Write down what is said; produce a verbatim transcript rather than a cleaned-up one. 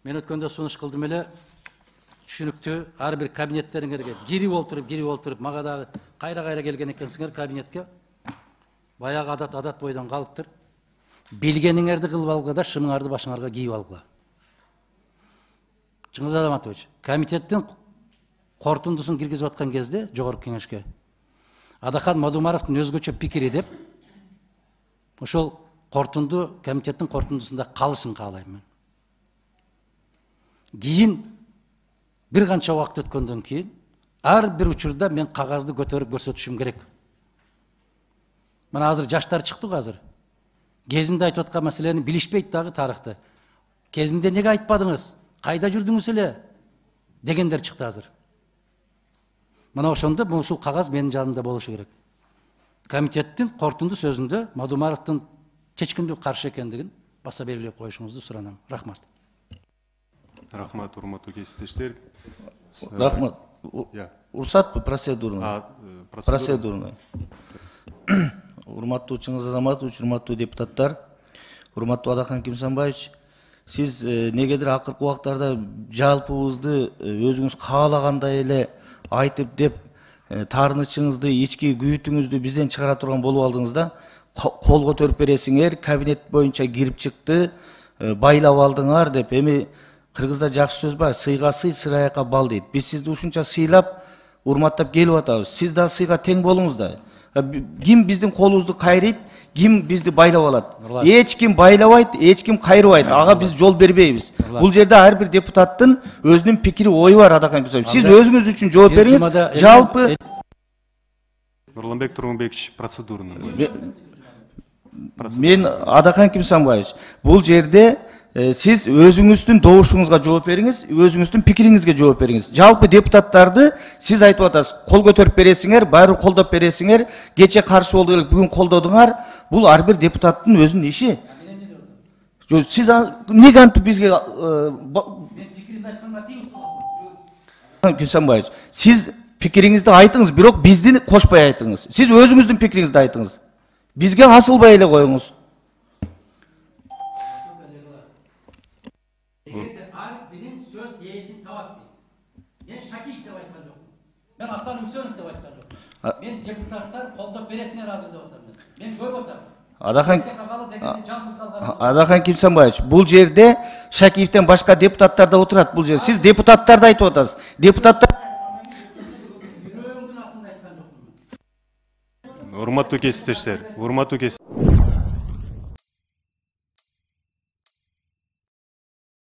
Мен өткөндө сунуш кылдым эле, түшүнүктүү, ар бир кабинеттериңерге кирип олтуруп, кирип олтуруп, мага дагы кайра-кайра келген экенсиңер кабинетке. Баягы адат адат бойдон калыптыр. Билгениңерди кылып алгыла да, шымыңарды башыңарга кийип алгыла. Чыңгыз Азаматович, комитеттин корутундусун киргизип аткан кезде жогорку кеңешке Адахан Мадумаровдун өзгөчө пикири деп, ошол корутунду комитеттин корутундусунда калышын каалайм мен. Кийин бир канча убакыт өткөндөн кийин ар бир учурда мен кагазды көтөрүп көрсөтүшүм керек. Мына азыр жаштар чыкты го азыр. Кезинде айтып аткан маселени билишпейт дагы тарыхты. Кезинде неге айтпадыңыз? Кайда жүрдүңүз эле? Дегендер чыкты азыр. Мына ошондо ушул кагаз менин жанымда болушу керек. Комитеттин корутунду сөзүндө Мадумаровдун чечкиндүү каршы экендигин баса белгилеп коюшуңузду суранам. Рахмат. Рахмат, урматтуу кесиптештер. Рахмат. Уруксатпы процедурный? Процедурный. Урматтуу Чыңгыз Азаматович, урматтуу депутаттар, урматтуу Адахан Кимсанбаевич, сиз негедир акыркы убактарда жалпыбызды өзүңүз каалагандай эле айтып деп таарынычыңызды, ички күйүтүңүздү бизден чыгара турган болуп алдыңыз да. Кол көтөрүп бересиңер, кабинет боюнча кирип чыкты, байлап алдыңар деп. Эми кыргызда жакшы сөз бар, сыйга сый, сыраякка бал дейт. Биз сизди ушунча сыйлап, урматтап келип атабыз. Сиз да сыйга тең болуңуз да. Ким биздин колубузду кайрыйт, ким бизди байлап алат. Эч ким байлабайт, эч ким кайрыбайт. Ага биз жол бербейбиз. Бул жерде ар бир депутаттын өзүнүн пикири, ою бар, Адахан Кимсанбаев. Сиз өзүңүз үчүн жооп бериңиз. Жалпы Нурланбек Тургунбекович, процедурный. Мен Адахан Кимсанбаевич, бул жерде сиз өзүңүздүн добушуңузга жооп бериңиз, өзүңүздүн пикириңизге жооп бериңиз. Жалпы депутаттарды сиз айтып атасыз, кол көтөрүп бересиңер, баары колдоп бересиңер, кече каршы болду элек, бүгүн колдодуңар. Бул ар бир депутаттын өзүнүн иши. Сиз неге антип бизге мен пикиримди айтканга тийиз кыласыз? Кимсанбаевич, сиз пикириңизди айтыңыз, бирок бизди кошпой айтыңыз. Сиз өзүңүздүн пикириңизди айтыңыз. Бизге асылбай эле коюңуз. Эгерде Ариф менин сөз ээсин табат дейт. Мен Шакиев деп айткан жокмун. Мен Асан Үсөнов деп айткан жокмун. Мен депутаттар колдоп бересиңер азыр деп атам. Мен көрүп атам. Адахан Адахан Кимсанбаевич, бул жерде Шакиевден башка депутаттар да отурат бул жерде. Сиз депутаттарды айтып атасыз. Депутаттар урматтуу кесиптештер, урматтуу кесиптештер.